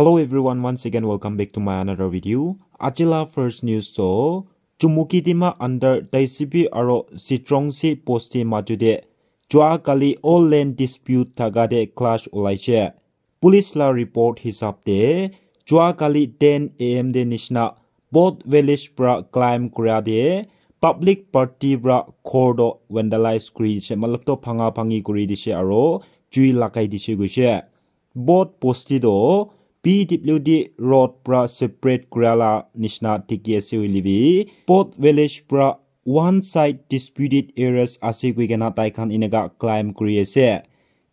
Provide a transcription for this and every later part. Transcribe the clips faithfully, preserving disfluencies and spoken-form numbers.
Hello everyone, once again welcome back to my another video. Ajila first news to Chumukedima under Taisipi aro Sitrongsi posti majude jua kali all land dispute thakade clash ulaishe. Police la report hisab te jua kali ten a m de nishina Both village pra climb kura de public party pra ghor to vandalize kuri dishe, matlab to bhanga bhangi kuri dishe aro jui lagai dishe koishe. Both bosti to P W D road pra separate kura la nishina dikhi ase hoile bi both village pra one side disputed areas ase koi kena tai khan eneka climb kuri ase.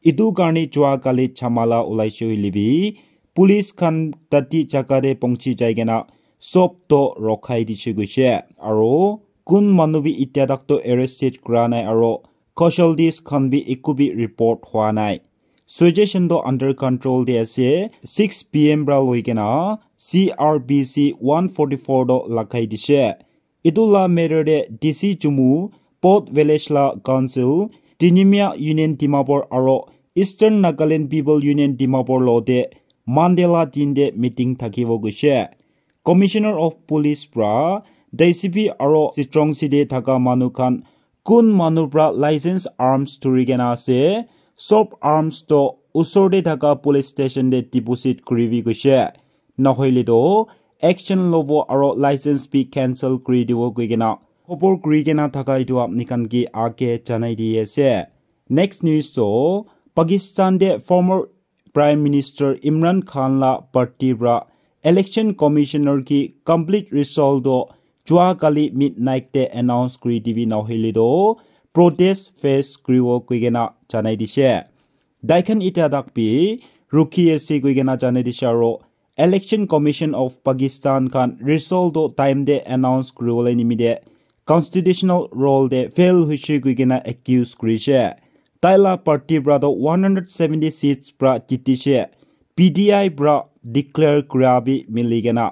Etu karne jua kali jhamala ulaishe hoile bi police khan tati jaga te pongchi jai kena sob to rokhai dishe koishe. Aro kun manu bi itya tak to arrested kura nai aro casualties khan bi eku bi report hua nai. Situation to under control te ase. Six p m pra loi kena C R P C one forty-four to lagai dishe. Etu la matter te D C Chumu, Both village la council, Tinimia Union Dimapur aro Eastern Nagaland People Union Dimapur lo te Monday la din te meeting thakibo koishe. Commissioner of Police pra D C P aro Sitrongsi te thaka manu khan kun manu pra license arms dhuri kena ase, sob arms to usor te thaka police station te deposit kuribi koishe. Nahoile to action lobo aro license bi cancel kuri dibo koi kena khobor kuri kena thaka etu apni khan ke age janai di ase. Next news to Pakistan te former Prime Minister Imran Khan la party pra election commissioner ki complete result to jua kali midnight te announce kuri dibi nahoile to protest face kuribo koi kena janai dishe. Daikhan itya tak bi rukhi ase koi kena janai dishe aro Election Commission of Pakistan khan result to time te announce kuribole nimite constitutional role te fail hoishe koi kena accuse kurishe. Tai la party pra to one hundred seventy seats pra jitishe. P T I pra declare kura bi mili kena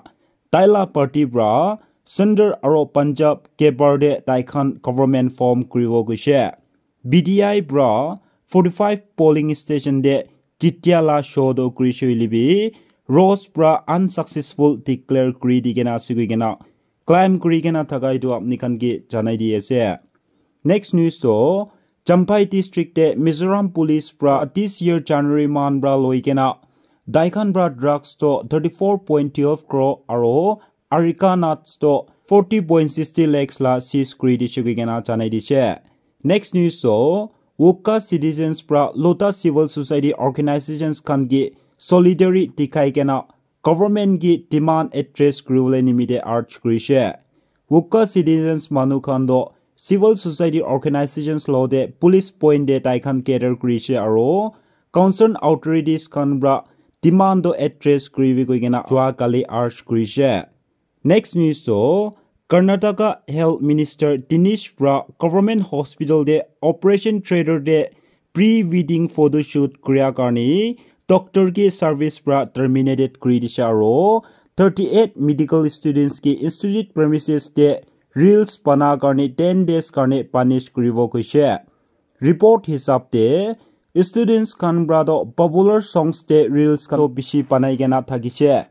tai la party pra Centre aro Punjab ke bar te tai khan government form kuribo koishe. B D I pra forty-five polling station te jitya la show to kurishe hoile bi Rose pra unsuccessful declare kuri di kena ase koi kena claim kuri kena thaka etu apni khan ke janai di ase. Next news to Champhai district te Mizoram police pra this year January month pra loi kena daikhan pra drugs to thirty-four point twelve crore aro Arica nuts to forty point sixty lakhs la seize kuri dishe koi kena janai dishe. Next news to Wokha citizens pra Lotha civil society organizations khan ke solidarity dikhai kena government ke demand address kuribole nimite urge kurishe. Wokha citizens manu khan to civil society organizations lo te police point te tai khan gather kurishe aro concerned authorities khan pra demand to address kuribi koi kena jua kali urge kurishe. Next news to Karnataka Health Minister Dinesh pra government hospital te operation theatre te pre-wedding photo shoot kuria karne doctor ke service pra terminated kuri dishe aro thirty-eight medical students ke institute premises te reels bana karne ten days karne punish kuribo koishe. Report hisab te students khan pra to popular songs te reels khan to bishi banai kena thakishe.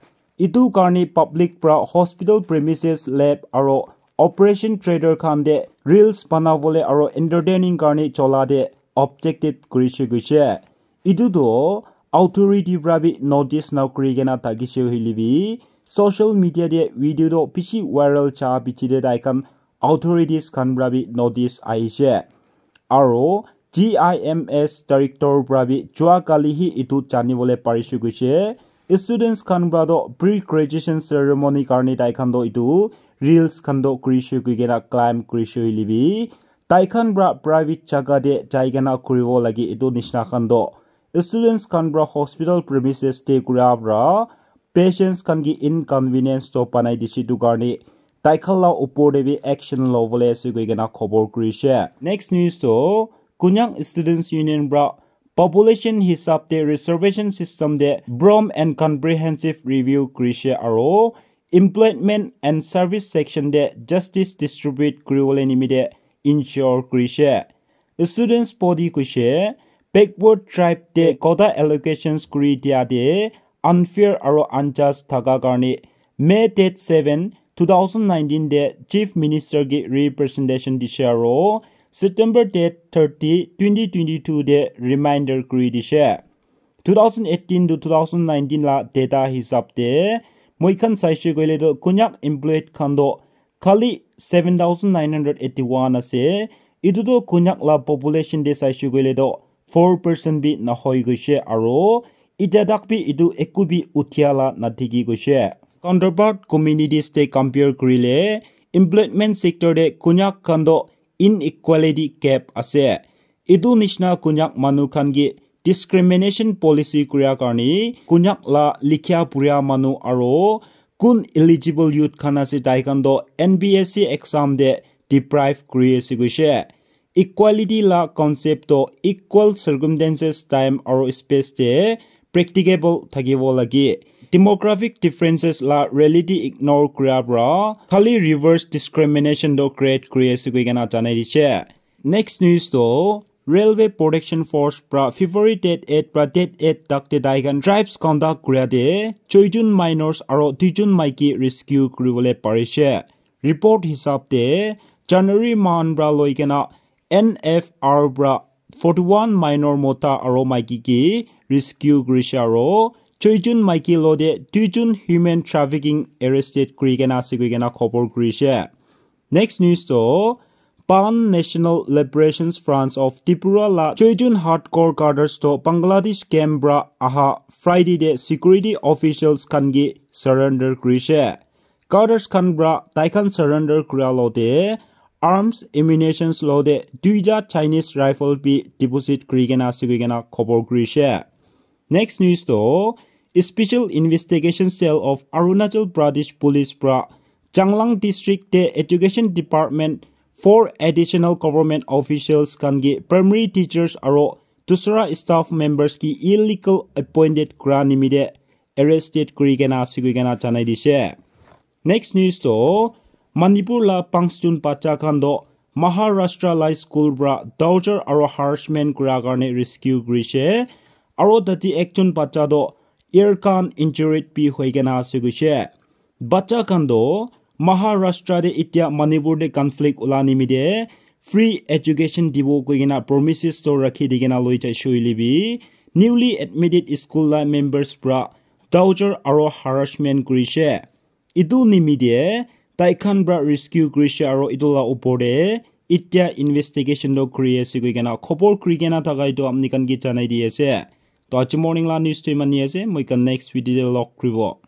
Etu karne public pra hospital premises, lab aro operation theatre khan te reels banabole aro entertaining karne chola te objective kurishe koishe. Etu to authority pra bi notice na kuri kena thakishe hoile bi social media te video to bishi viral ja piche te tai khan authorities khan pra bi notice ahishe. Aro G I M S director pra bi jua kali hi etu janibole parishe koishe. Students khan pra to pre-graduation ceremony karne tai khan to etu reels khan to kurishe koi kena claim kurishe hoile bi tai khan pra private jaga te jai kena kuribo lage etu nishina khan to students khan pra hospital premises te kura pra patients khan ke inconvenience to banai dishe etu karne tai khan la upor te bi action lobole ase koi kena khobor kurishe. Next news to Konyak Students Union pra population hisab te reservation system te broad and comprehensive review kurishe aro employment and service section te justice distribute kuribole nimite ensure kurishe. Students body koishe backward tribe te quota allocations kuri dia te unfair aro unjust thaka karne May date seven, two thousand nineteen de Chief Minister ki representation dishe aro September date thirty, twenty twenty-two de reminder kuri dishe. Two thousand eighteen to two thousand nineteen la data hisab te moi khan saishe koile to Konyak employed khan to khali seven thousand nine hundred eighty-one ase. Etu to Konyak la population te saishe koile to four percent bi nahoi goishe aro itya tak bi etu eku bi uthia la nadikhi goishe. Counterpart communities te compare kurile employment sector te Konyak khan to inequality gap ase. Etu nishina Konyak manu khan ke discrimination policy kuria karne Konyak la likhia puria manu aro kun eligible youth khan ase tai khan to N P S C exam de deprive kuri ase koishe. Equality la concept to equal circumstances, time aro space te practicable thakibo lage. Demographic differences la reality ignore kuria pra khali reverse discrimination to create kuri ase koi kena janai dishe. Next news to Railway Protection Force pra February date eight pra date eight tak te tai khan tribes conduct kuria te choijun minors aro duijun maiki rescue kuribole parishe. Report hisab te January mahan pra loi kena N F R pra forty-one minor mota aro maiki ki rescue kurishe aro choijun maiki lo de duijun human trafficking arrested kuri kena ase koi kena khobor kurishe. Next news to Pan National Liberation Front of Tripura la choijun hardcore cadres to Bangladesh camp pra aha Friday de security officials khan ke surrender kurishe. Cadres khan pra tai khan surrender kura lo de arms, ammunitions lo de duita Chinese rifle bi deposit kuri kena ase koi kena khobor kurishe. Next news to Special Investigation Cell of Arunachal Pradesh Police pra Changlang District te Education Department four additional government officials khan ke primary teachers aro dusra staff members ki illegal appointed kura nimite arrested kuri kena ase koi kena janai dishe. Next news to Manipur la panchjun bacha khan to Maharashtra la school pra torture aro harassment kura karne rescue kurishe aro tate ekjon bacha to air gun injured bi hoi kena ase koishe. Bacha khan to Maharashtra de itya Manipur de conflict ula nimite free education dibo koi kena promises to rakhi di kena loi jaishe hoile bi newly admitted school la members pra torture aro harassment kurishe. Etu nimite tai khan pra rescue kurishe aro etu la upor te itya investigation to kuri ase koi kena khobor kuri kena thaka etu apni khan ke janai di ase. To aji morning la news to imani ase, moi khan next video de log kuribo.